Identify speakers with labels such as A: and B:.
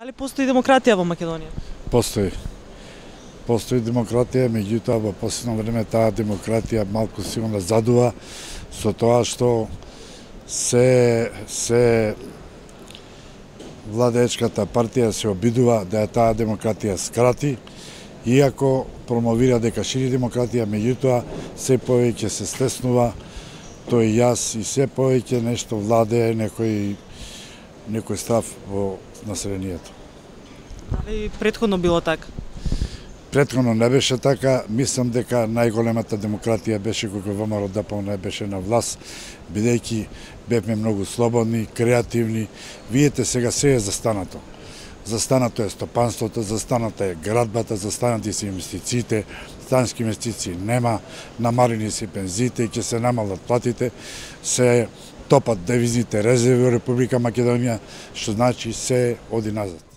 A: Дали постои демократија во Македонија?
B: Постои. Постои демократија, меѓутоа во последно време таа демократија малку сигурно задува со тоа што се владеечката партија се обидува да таа демократија скрати, иако промовира дека шири демократија, меѓутоа се повеќе се стеснува тој јас и се повеќе нешто владее некој став во населението.
A: Дали претходно било така?
B: Претходно не беше така, мислам дека најголемата демократија беше кога ВМРО ДПМНЕ беше на власт, бидејќи бевме многу слободни, креативни. Видете сега се е застанато. Застанато е стопанството, застаната е градбата, застанати се инвестициите, стански инвестиции нема, намалени се пензиите, ќе се намалат платите, се топат девизните резерви во Република Македонија, што значи се оди назад.